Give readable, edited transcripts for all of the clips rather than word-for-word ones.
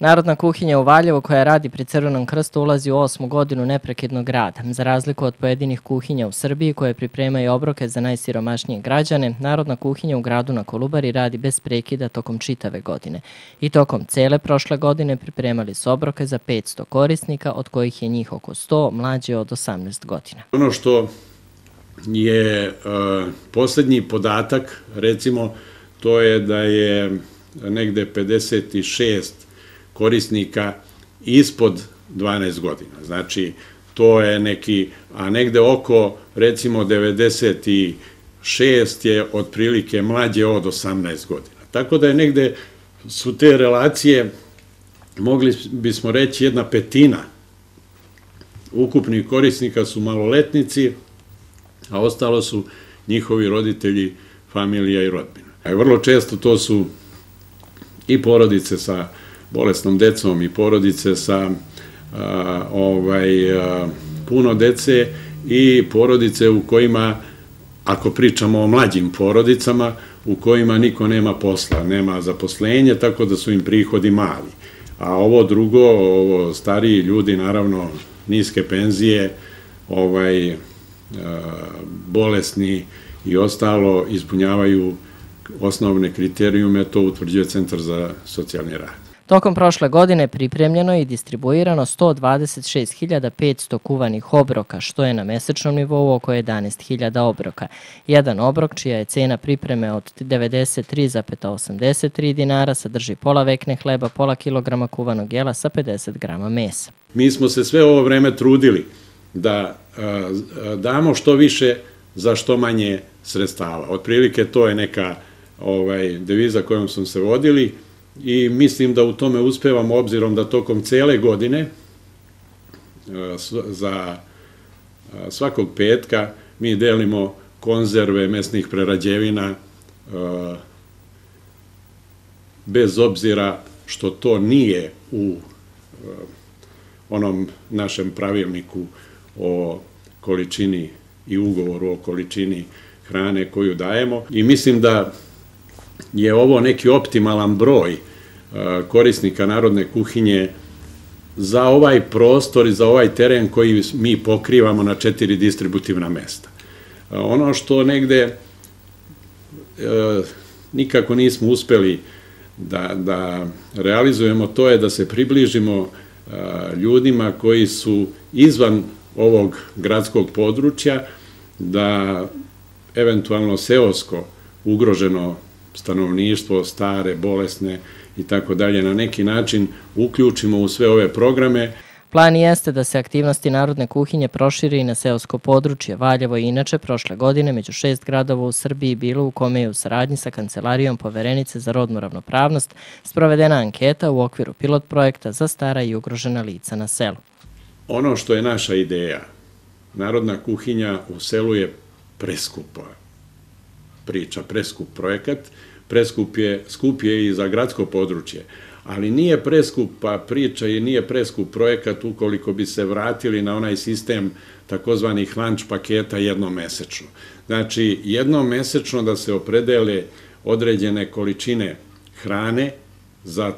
Narodna kuhinja u Valjevu, koja radi pri Crvenom krstu, ulazi u 8. godinu neprekidnog rada. Za razliku od pojedinih kuhinja u Srbiji koje pripremaju obroke za najsiromašnije građane, Narodna kuhinja u gradu na Kolubari radi bez prekida tokom čitave godine. I tokom cele prošle godine pripremali su obroke za 500 korisnika, od kojih je njih oko 100 mlađe od 18 godina. Ono što je posljednji podatak, recimo, to je da je negde 56 korisnika ispod 12 godina. Znači, to je neki, a negde oko, recimo, 96 je otprilike mlađe od 18 godina. Tako da je negde su te relacije, mogli bismo reći, 1/5 ukupnih korisnika su maloletnici, a ostalo su njihovi roditelji, familija i rodbina. Vrlo često to su i porodice sa bolesnom decom i porodice sa puno dece i porodice u kojima, ako pričamo o mlađim porodicama, u kojima niko nema posla, nema zaposlenja, tako da su im prihodi mali. A ovo drugo, ovo stariji ljudi, naravno, niske penzije, bolesni i ostalo ispunjavaju osnovne kriterijume, to utvrđuje Centar za socijalni rad. Tokom prošle godine pripremljeno i distribuirano 126.500 kuvanih obroka, što je na mesečnom nivou oko 11.000 obroka. Jedan obrok, čija je cena pripreme od 93,83 dinara, sadrži pola vekne hleba, pola kilograma kuvanog jela sa 50 grama mesa. Mi smo se sve ovo vreme trudili da damo što više za što manje sredstava. Otprilike to je neka deviza kojom smo se vodili i mislim da u tome uspevamo, obzirom da tokom cele godine za svakog petka mi delimo konzerve mesnih prerađevina, bez obzira što to nije u onom našem pravilniku o količini i ugovoru o količini hrane koju dajemo. I mislim da je ovo neki optimalan broj korisnika Narodne kuhinje za ovaj prostor i za ovaj teren koji mi pokrivamo na 4 distributivna mesta. Ono što negde nikako nismo uspeli da realizujemo, to je da se približimo ljudima koji su izvan ovog gradskog područja, da eventualno seosko ugroženo stanovništvo, stare, bolesne i tako dalje, na neki način uključimo u sve ove programe. Plan jeste da se aktivnosti Narodne kuhinje proširi i na seosko područje. Valjevo je inače prošle godine među 6 gradova u Srbiji bilo u kome je u saradnji sa Kancelarijom Poverenice za rodnu ravnopravnost sprovedena anketa u okviru pilot projekta za stara i ugrožena lica na selu. Ono što je naša ideja, Narodna kuhinja u selu je preskupa priča, preskup projekat, skup je i za gradsko područje, ali nije preskupa priča i nije preskup projekat ukoliko bi se vratili na onaj sistem takozvanih lunch paketa jednomesečno. Znači, jednomesečno da se opredele određene količine hrane za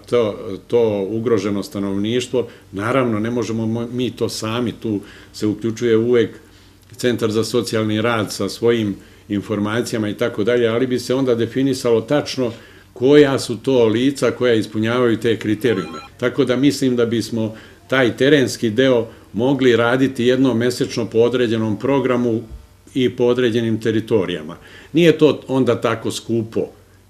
to ugroženo stanovništvo. Naravno, ne možemo mi to sami, tu se uključuje uvek Centar za socijalni rad sa svojim informacijama i tako dalje, ali bi se onda definisalo tačno koja su to lica koja ispunjavaju te kriterijume. Tako da mislim da bismo taj terenski deo mogli raditi jednomesečno po određenom programu i po određenim teritorijama. Nije to onda tako skupo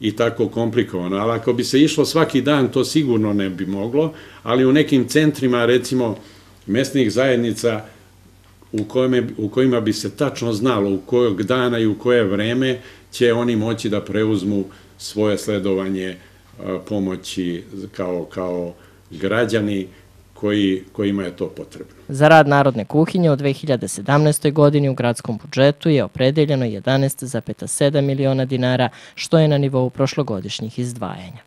i tako komplikovano, ali ako bi se išlo svaki dan, to sigurno ne bi moglo, ali u nekim centrima, recimo, mesnih zajednica u kojima bi se tačno znalo u kojeg dana i u koje vreme će oni moći da preuzmu svoje sledovanje pomoći kao građani kojima je to potrebno. Za rad Narodne kuhinje u 2017. godini u gradskom budžetu je opredeljeno 11,7 miliona dinara, što je na nivou prošlogodišnjih izdvajanja.